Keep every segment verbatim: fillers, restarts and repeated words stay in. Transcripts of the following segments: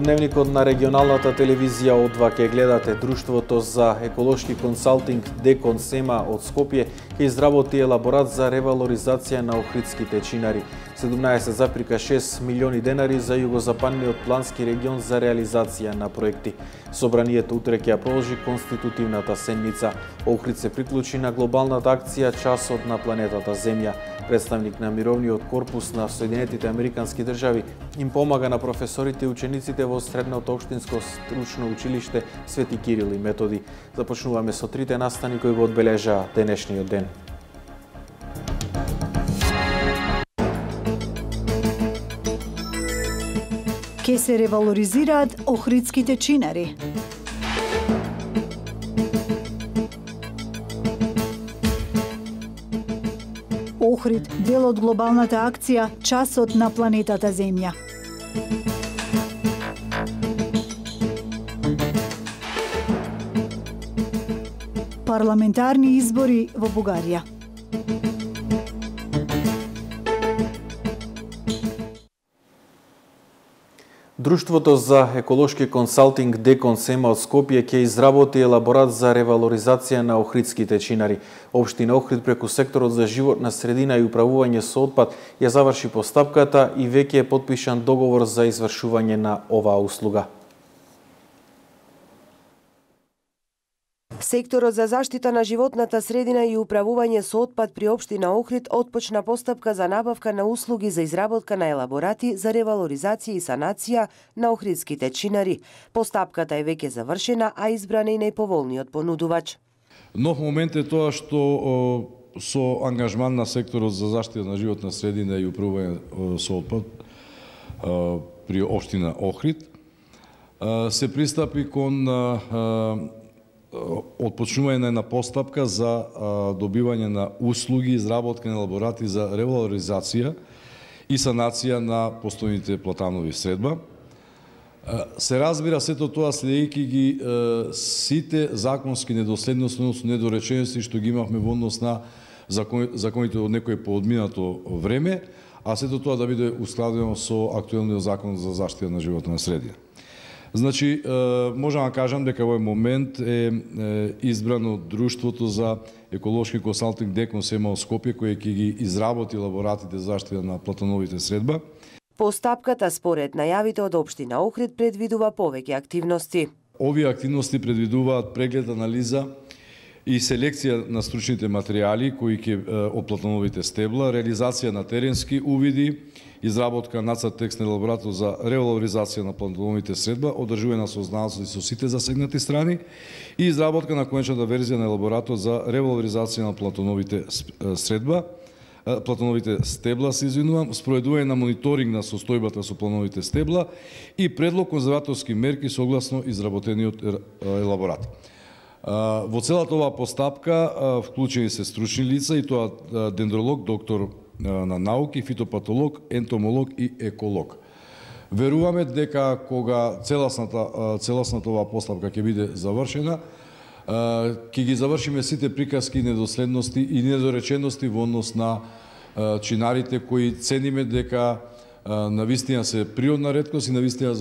Во дневникот на регионалната телевизија од два ќе гледате друштвото за еколошки консалтинг Декон Сема од Скопје ќе изработи елаборат за ревалоризација на охридските чинари. седумнаесет запирка шест милиони денари за југозападниот плански регион за реализација на проекти. Собранието утре ќе ја продолжи конститутивната седница. Охрид се приклучи на глобалната акција Часот на планетата Земја. Представник на Мировниот корпус на Соединетите Американски држави им помага на професорите и учениците во Средното општинско стручно училиште Свети Кирил и Методи. Започнуваме со трите настани кои го одбележаа денешниот ден. Ке се ревалоризираат охридските чинари. Охрид, дел од глобалната акција Часот на планетата Земја. Парламентарни избори во Бугарија. Друштвото за еколошки консалтинг Декон Сема од Скопје ќе изработи елаборат за ревалоризација на охридските чинари. Општина Охрид преку секторот за животна средина и управување со отпад ја заврши постапката и веќе е потпишан договор за извршување на оваа услуга. Секторот за заштита на животната средина и управување со отпад при општина Охрид отпочна постапка за набавка на услуги за изработка на елаборати за ревалоризација и санација на охридските чинари. Постапката е веќе завршена, а избран е и најповолниот понудувач. Нов момент е тоа што со ангажман на секторот за заштита на животна средина и управување со отпад при општина Охрид се пристапи кон отпочнување на една постапка за добивање на услуги, изработка на елаборати за ревалоризација и санација на постојните платанови средба. Се разбира сето тоа следејќи ги сите законски недоследности, односно недоречености што ги имавме во однос на законите од некој поодминато време, а сето тоа да биде ускладено со актуелниот закон за заштита на животна средина. Значи, можам да кажам дека овој момент е избрано друштвото за еколошки консалтинг Декон Сема од Скопје, кој ќе ги изработи елаборатите за заштита на платановите средба. Постапката според најавите од општина Охрид предвидува повеќе активности. Овие активности предвидуваат преглед, анализа и селекција на стручните материјали кои ќе од платановите стебла, реализација на теренски увиди, изработка нацрт текст на елаборатот за ревалоризација на платановите средба, одржување на сознавањето со сите засегнати страни и изработка на конечната верзија на елаборатот за ревалоризација на платановите средба, платановите стебла, се извинувам, спроведување на мониторинг на состојбата со платановите стебла и предлог конзерваторски мерки согласно изработениот елаборат. Во целата оваа постапка вклучени се стручни лица и тоа дендролог, доктор на науки, фитопатолог, ентомолог и еколог. Веруваме дека кога целосната целосната оваа постапка ќе биде завршена, ќе ги завршиме сите приказки и недоследности и недоречености во однос на чинарите кои цениме дека навистина се природна реткост и навистина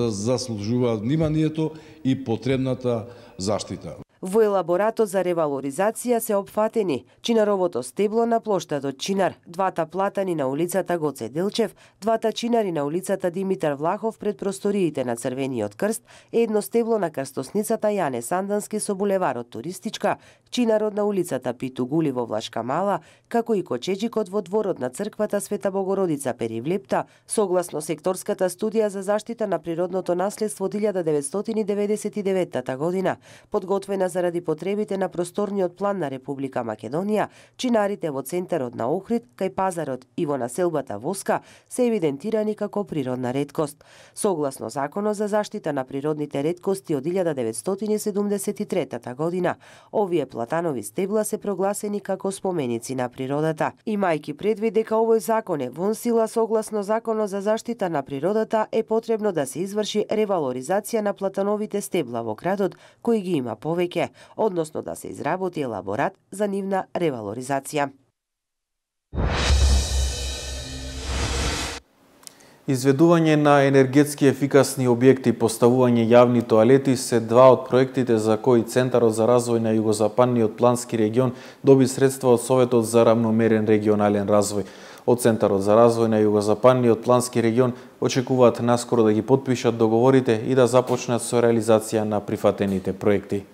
заслужуваат вниманието и потребната заштита. Во елаборатот за ревалоризација се опфатени чинаровото стебло на плоштадот Чинар, двата платани на улицата Гоце Делчев, двата чинари на улицата Димитар Влахов пред просториите на Црвениот крст, едно стебло на крстосницата Јане Сандански со булеварот Туристичка, чинарот на улицата Питу Гули во Влашка Мала, како и кочеџикот во дворот на црквата Света Богородица Перивлепта, согласно секторската студија за заштита на природното наследство од илјада деветстотини деветдесет и девета година, подготвена заради потребите на просторниот план на Република Македонија, чинарите во центарот на Охрид, кај пазарот и во населбата Воска се евидентирани како природна реткост. Согласно Законот за заштита на природните реткости од илјада деветстотини седумдесет и трета година, овие платанови стебла се прогласени како споменици на природата. Имајќи предвид дека овој закон е вон сила согласно Законот за заштита на природата, е потребно да се изврши ревалоризација на платановите стебла во градот, кои ги има повеќе, односно да се изработи елаборат за нивна ревалоризација. Изведување на енергетски ефикасни објекти, поставување јавни тоалети се два од проектите за кои Центарот за развој на Југозападниот плански регион доби средства од Советот за равномерен регионален развој. Од Центарот за развој на Југозападниот плански регион очекуваат наскоро да ги потпишат договорите и да започнат со реализација на прифатените проекти.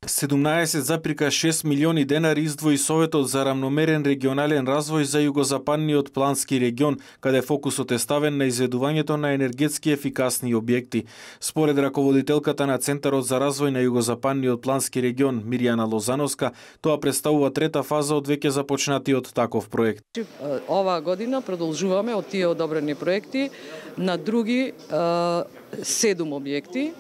седумнаесет зарез и шест милиони денари издвои Советот за равномерен регионален развој за Југозападниот плански регион, каде фокусот е ставен на изведувањето на енергетски ефикасни објекти. Според раководителката на Центарот за развој на Југозападниот плански регион Мирјана Лозановска, тоа представува трета фаза од веќе започнатиот таков проект. Ова година продолжуваме од тие одобрени проекти на други седум објекти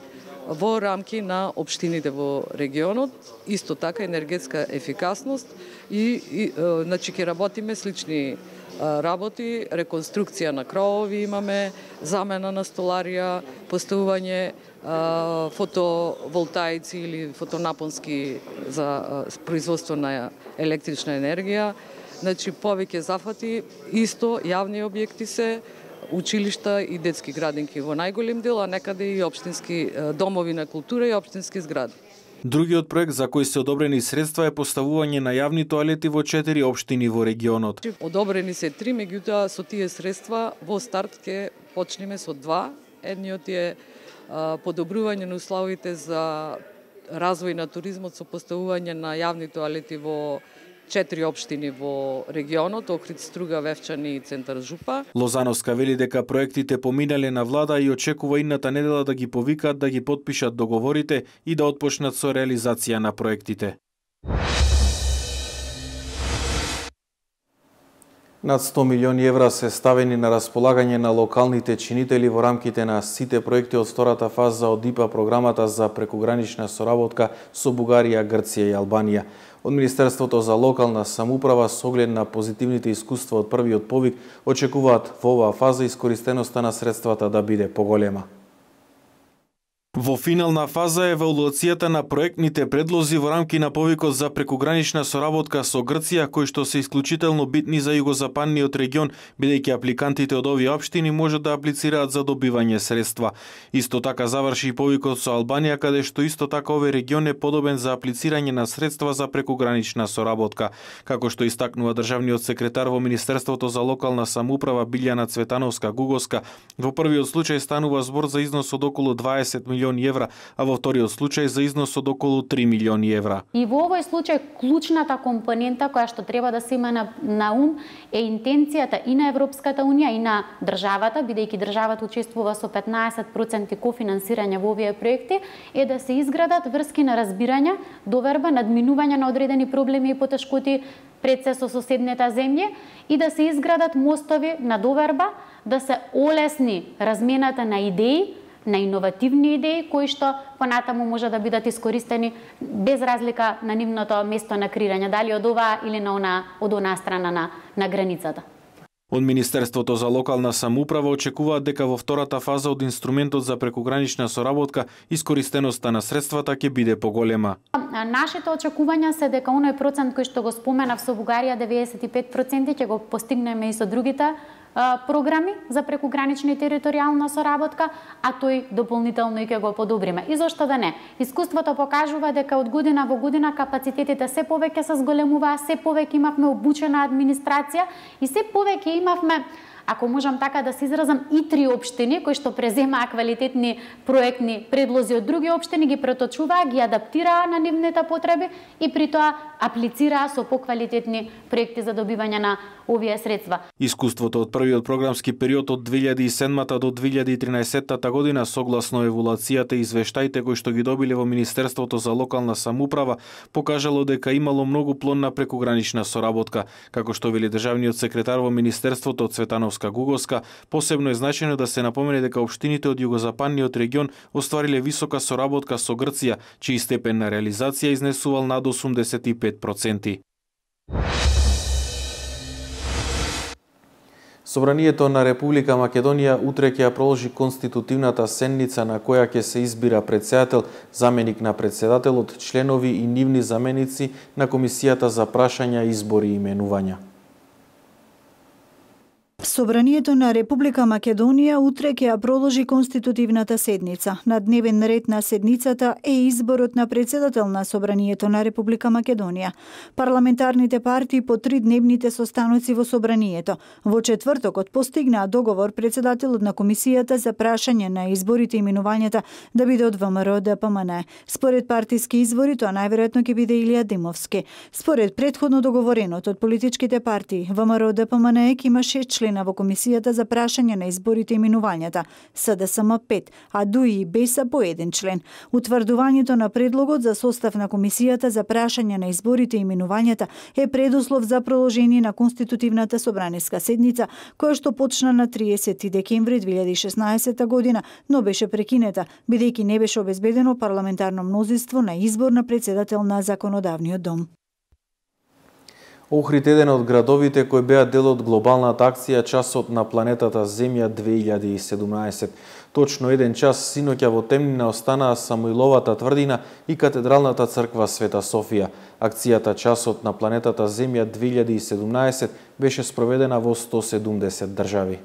во рамки на општините во регионот, исто така енергетска ефикасност и, и значи ќе работиме слични работи, реконструкција на кровови имаме, замена на столарија, поставување фотоволтаици или фотонапонски за производство на електрична енергија, значи повеќе зафати, исто јавни објекти се, училишта и детски градинки во најголем дел, а некаде и општински домови на култура и општински згради. Другиот проект за кој се одобрени средства е поставување на јавни тоалети во четири општини во регионот. Одобрени се три, меѓутоа со тие средства во старт ќе почнеме со два. Едниот е подобрување на условите за развој на туризмот со поставување на јавни тоалети во четири општини во регионот, Охрид, Струга, Вевчани и Центар Жупа. Лозановска вели дека проектите поминале на влада и очекува идната недела да ги повикаат да ги потпишат договорите и да отпочнат со реализација на проектите. Над сто милиони евра се ставени на располагање на локалните чинители во рамките на сите проекти од втората фаза од ИПА програмата за прекугранична соработка со Бугарија, Грција и Албанија. Од Министерството за локална самоуправа со оглед на позитивните искуства од првиот повик очекуваат во оваа фаза искористеноста на средствата да биде поголема. Во финална фаза е евалуацијата на проектните предлози во рамки на повикот за прекугранична соработка со Грција, кои што се исклучително битни за југозападниот регион, бидејќи апликантите од овие општини можат да аплицираат за добивање средства. Исто така заврши и повикот со Албанија, каде што исто така овој регион е подобен за аплицирање на средства за прекугранична соработка. Како што истакнува државниот секретар во Министерството за локална самоуправа Билјана Цветановска-Гуговска, во првиот случај станува збор за износ од околу дваесет милиони евра, а во вториот случај за износ од околу три милиони евра. И во овој случај клучната компонента која што треба да се има на, на ум е интенцијата и на Европската унија и на државата, бидејќи државата учествува со петнаесет проценти кофинансирање во овие проекти, е да се изградат врски на разбирање, доверба, надминување на одредени проблеми и потешкоти пред се со соседните земји и да се изградат мостови на доверба, да се олесни размената на идеи, на иновативни идеи кои што понатаму може да бидат искористени без разлика на нивното место на креирање, дали од оваа или на она, од онаа страна на, на границата. Од Министерството за локална самоуправа очекуваат дека во втората фаза од инструментот за прекугранична соработка искористеноста на средствата ќе биде поголема. Нашите очекувања се дека оној процент кој што го споменав со Бугарија деветдесет и пет проценти ќе го постигнеме и со другите програми за прекугранична и територијална соработка, а тој дополнително и ќе го подобриме. И зошто да не? Искуството покажува дека од година во година капацитетите се повеќе се зголемуваа, се повеќе имавме обучена администрација и се повеќе имавме, ако можам така да се изразам, и три општини кои што преземаа квалитетни проектни предлози од други општини, ги преточуваа, ги адаптираа на нивните потреби и при тоа аплицираа со поквалитетни проекти за добивање на овие средства. Искуството од првиот програмски период од две илјади и седмата до две илјади и тринаесетта година, согласно евалуацијата и извештаите кои што ги добиле во Министерството за локална самоуправа, покажало дека имало многу плодна прекугранична соработка. Како што вели државниот секретар во Министерството Цветановска-Гуговска, посебно е значајно да се напомене дека општините од југозападниот регион оствариле висока соработка со Грција, чиј степен на реализација изнесувал над осумдесет и пет проценти. Собранието на Република Македонија утре ќе ја проложи конститутивната седница на која ќе се избира претседател, заменик на претседателот, членови и нивни заменици на Комисијата за прашања, избори и именувања. Собранието на Република Македонија утре ќе ја продолжи конститутивната седница. На дневен ред на седницата е изборот на председател на Собранието на Република Македонија. Парламентарните партии по три дневните состаноци во Собранието. Во четвртокот постигнаа договор председателот на комисијата за прашање на изборите и именувањата да биде од ВМРО Д П М Н. Според партиски извори тоа најверојатно ќе биде Илија Димовски. Според претходно договореното од политичките партии, ВМРО Д П М Н ќе има шест члена во комисијата за прашање на изборите и именувањата, С Д С М пет, а Д У И и Беса по еден член. Утврдувањето на предлогот за состав на комисијата за прашање на изборите и именувањата е предуслов за продолжение на конститутивната собраниска седница, која што почна на триесети декември две илјади и шеснаесета година, но беше прекинета, бидејќи не беше обезбедено парламентарно мнозинство на избор на председател на Законодавниот дом. Охрид еден од градовите кои беа дел од глобалната акција Часот на планетата Земја две илјади и седумнаесет. Точно еден час синоќа во темнина останаа Самуиловата тврдина и Катедралната црква Света Софија. Акцијата Часот на планетата Земја две илјади и седумнаесет беше спроведена во сто седумдесет држави.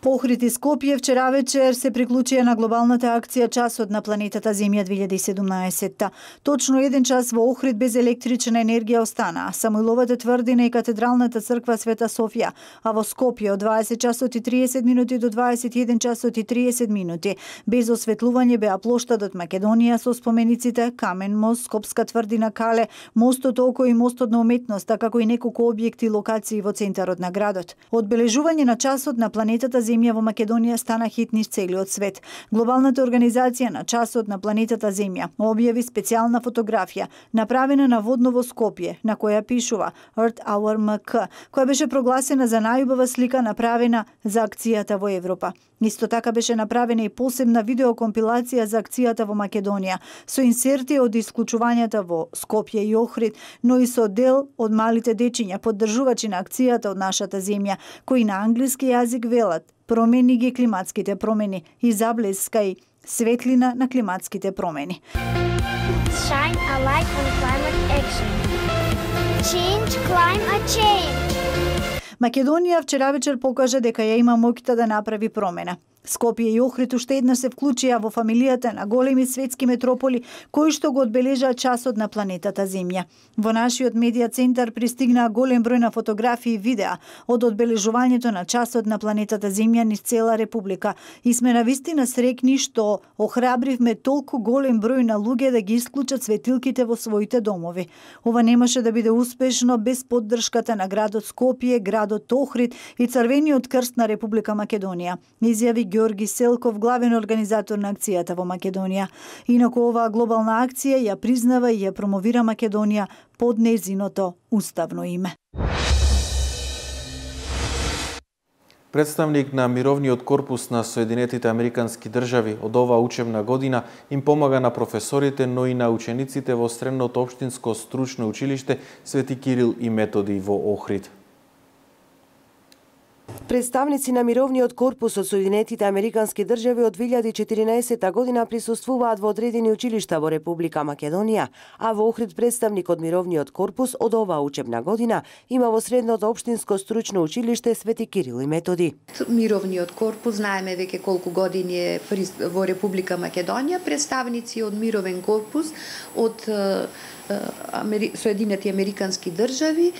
Охрид и Скопје вчера вечер се приклучија на глобалната акција Часот на планетата Земја две илјади и седумнаесет. Точно еден час во Охрид без електрична енергија остана Самуиловата тврдина и Катедралната црква Света Софија, а во Скопје од дваесет часот и триесет минути до дваесет и еден часот и триесет минути без осветлување беа плоштадот Македонија со спомениците Камен мост, Скопска тврдина Кале, мостот Око и мостот на уметноста, како и неколку објекти и локации во центарот на градот. Одбележување на Часот на планетата Земја во Македонија стана хит низ целиот свет. Глобалната организација на Часот на планетата Земја објави специјална фотографија, направена на водно во Скопје, на која пишува Earth Hour М К, која беше прогласена за најубава слика направена за акцијата во Европа. Исто така беше направена и посебна видеокомпилација за акцијата во Македонија, со инсерти од исклучувањата во Скопје и Охрид, но и со дел од малите дечиња, поддржувачи на акцијата од нашата земја, кои на англиски јазик велат: промени ги климатските промени и заблескај светлина на климатските промени. Shine a light on climate action. Change climate change. Македонија вчера вечер покажа дека ја има моќта да направи промена. Скопје и Охрид уште еднаш се вклучија во фамилијата на големи светски метрополи кои што го одбележаа Часот на планетата Земја. Во нашиот медија центар пристигнаа голем број на фотографии и видеа од одбележувањето на Часот на планетата Земја низ цела република и сме навистина срекни што охрабривме толку голем број на луѓе да ги исклучат светилките во своите домови. Ова немаше да биде успешно без поддршката на градот Скопје, градот Охрид и Црвениот крст на Република Македонија, изјави Георги Селков, главен организатор на акцијата во Македонија. Инаку оваа глобална акција ја признава и ја промовира Македонија под нејзиното уставно име. Представник на Мировниот корпус на Соединетите Американски држави од оваа учебна година им помага на професорите, но и на учениците во Средното општинско стручно училиште Свети Кирил и Методи во Охрид. Представници на Мировниот корпус од Соединетите Американски држави од две илјади и четиринаесета година присуствуваат во одредени училишта во Република Македонија, а во Охрид представник од Мировниот корпус од оваа учебна година има во Средното општинско стручно училиште Свети Кирил и Методи. Мировниот корпус, знаеме веќе колку години е во Република Македонија, представници од Мировен корпус од Соединети Американски држави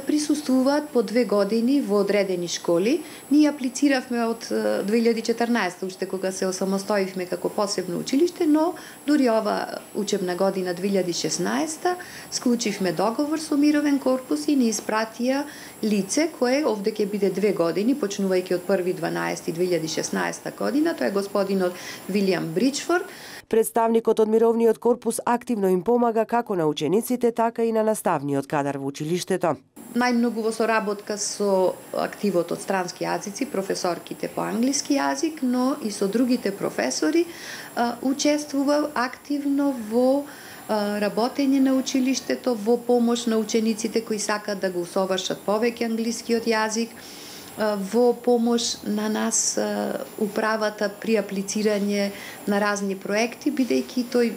присуствуваат по две години во одредени школи. Ние аплициравме од две илјади и четрнаесета, уште кога се осамостоивме како посебно училиште, но дури ова учебна година две илјади и шеснаесета склучивме договор со Мировен корпус и ни испратија лице кое овде ќе биде две години, почнувајќи од први дванаесети две илјади и шеснаесета година, тоа е господинот Вилијам Бричфорд. Представникот од Мировниот корпус активно им помага како на учениците, така и на наставниот кадар во училиштето. Најмногу во соработка со активот од странски јазици, професорките по англиски јазик, но и со другите професори, учествува активно во работење на училиштето, во помош на учениците кои сакаат да го усовршат повеќе англискиот јазик. во помош на нас управата при аплицирање на разни проекти, бидејќи тој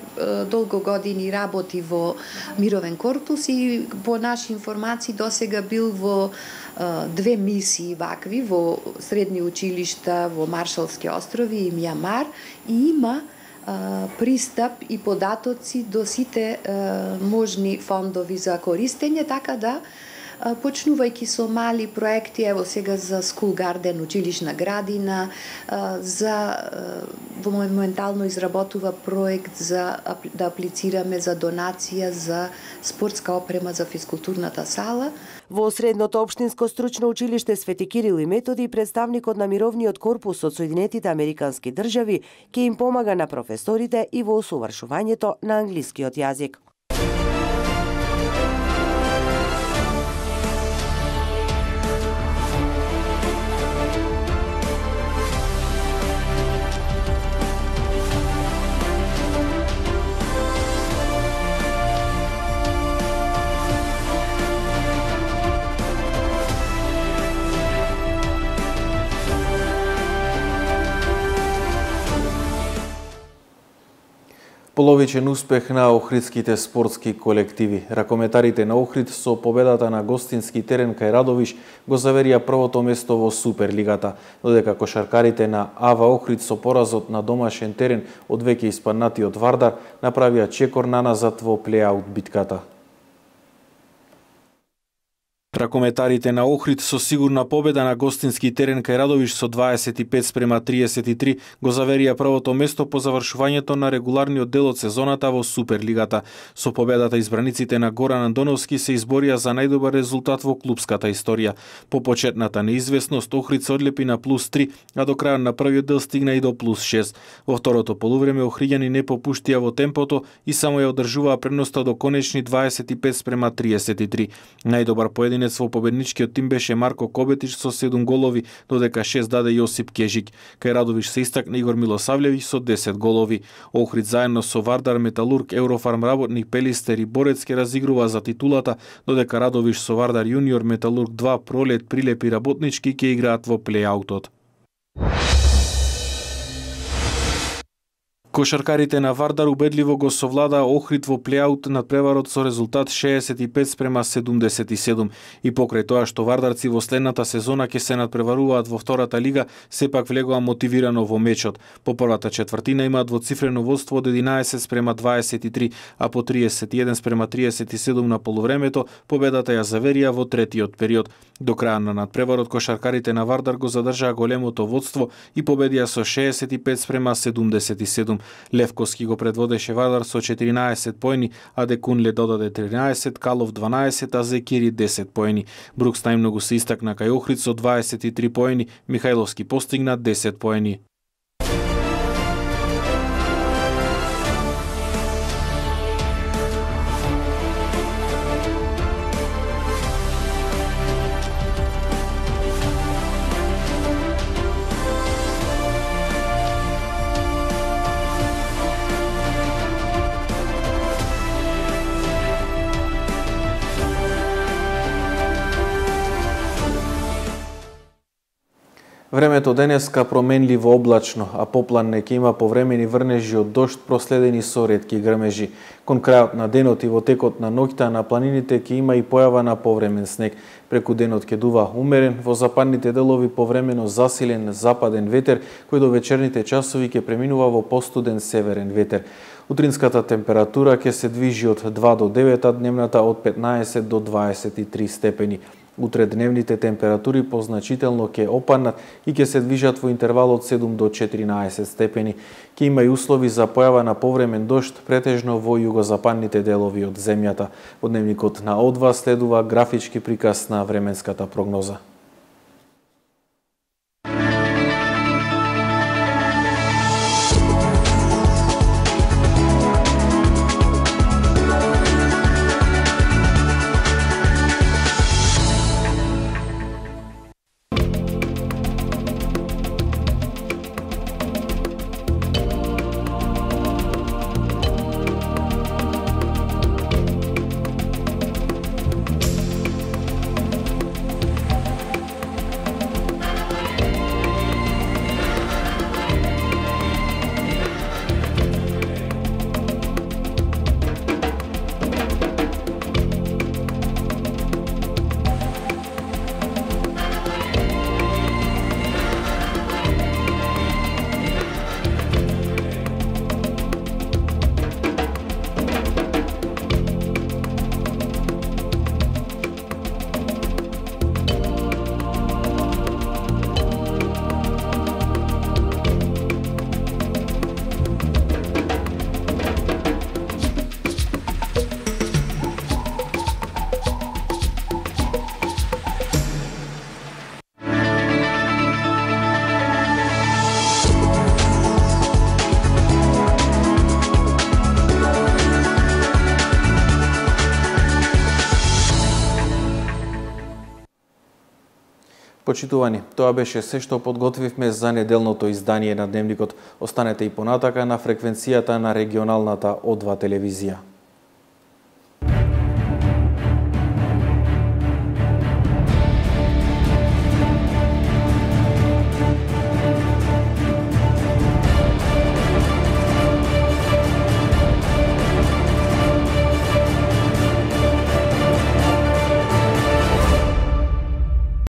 долго години работи во Мировен корпус и по наши информации досега бил во две мисии вакви во средни училишта во Маршалски острови и Мјамар и има пристап и податоци до сите можни фондови за користење, така да почнувајќи со мали проекти, ево сега за School Garden, училишна градина, за во моментално изработува проект за да аплицираме за донација за спортска опрема за физкултурната сала. Во Средното општинско стручно училиште Свети Кирил и Методи, представникот на Мировниот корпус од Соединетите Американски држави ќе им помага на професорите и во усовршувањето на англискиот јазик. Половичен успех на охридските спортски колективи. Ракометарите на Охрид со победата на гостински терен кај Радовиш го заверија првото место во Суперлигата, додека кошаркарите на Ава Охрид со поразот на домашен терен од веќе испаднатиот Вардар направија чекор наназад во плејаут битката. Ракометарите на Охрид со сигурна победа на гостински терен кај Радовиш со дваесет и пет спрема триесет и три го заверија првото место по завршувањето на регуларниот дел од сезоната во Суперлигата. Со победата избраниците на Горан Андоновски се изборија за најдобар резултат во клупската историја. По почетната неизвестност Охрид се одлепи на плюс три, а до крајот на првиот дел стигна и до плюс шест. Во второто полувреме охриѓани не попуштија во темпото и само ја одржуваа предноста до конечни дваесет и пет спрема триесет и три. Најдобар поединец во победничкиот тим беше Марко Кобетич со седум голови, додека шест даде Јосип Кежик. Кај Радовиш се истакна Игор Милосавлевиќ со десет голови. Охрид заедно со Вардар, Металург, Еврофарм работник, Пелистер и Борец ке разигрува за титулата, додека Радовиш со Вардар Јуниор, Металург два, Пролет, Прилеп и Работнички ке играат во плејаутот. Кошаркарите на Вардар убедливо го совладаа Охрид во плејаут над преварот со резултат шеесет и пет спрема седумдесет и седум. И покрај тоа што вардарци во следната сезона ќе се надпреваруваат во втората лига, сепак влегоа мотивирано во мечот. По првата четвртина имаат двоцифрено водство од единаесет спрема дваесет и три, а по триесет и еден спрема триесет и седум на полувремето победата ја заверија во третиот период. До крај на надпреварот кошаркарите на Вардар го задржаа големото водство и победија со шеесет и пет спрема седумдесет и седум. Левковски го предводеше Вардар со четиринаесет поени, а Декунле додаде тринаесет, Калов дванаесет, а Зекири десет поени. Брукс најмногу се истакна кај Охрид со дваесет и три поени, Михајловски постигна десет поени. Времето денеска променливо облачно, а попланне ќе има повремени врнежи од дожд проследени со ретки грмежи. Кон крајот на денот и во текот на ноќта на планините ќе има и појава на повремен снег. Преку денот ќе дува умерен, во западните делови повремено засилен западен ветер, кој до вечерните часови ќе преминува во постуден северен ветер. Утринската температура ќе се движи од два до девет, а дневната од петнаесет до дваесет и три степени. Утре дневните температури позначително ќе опаднат и ќе се движат во интервал од седум до четиринаесет степени. Ќе има и услови за појава на повремен дожд, претежно во југозападните делови од земјата. Во дневникот на О два следува графички приказ на временската прогноза. Почитувани, тоа беше се што подготвивме за неделното издание на Дневникот. Останете и понатака на фреквенцијата на регионалната О два телевизија.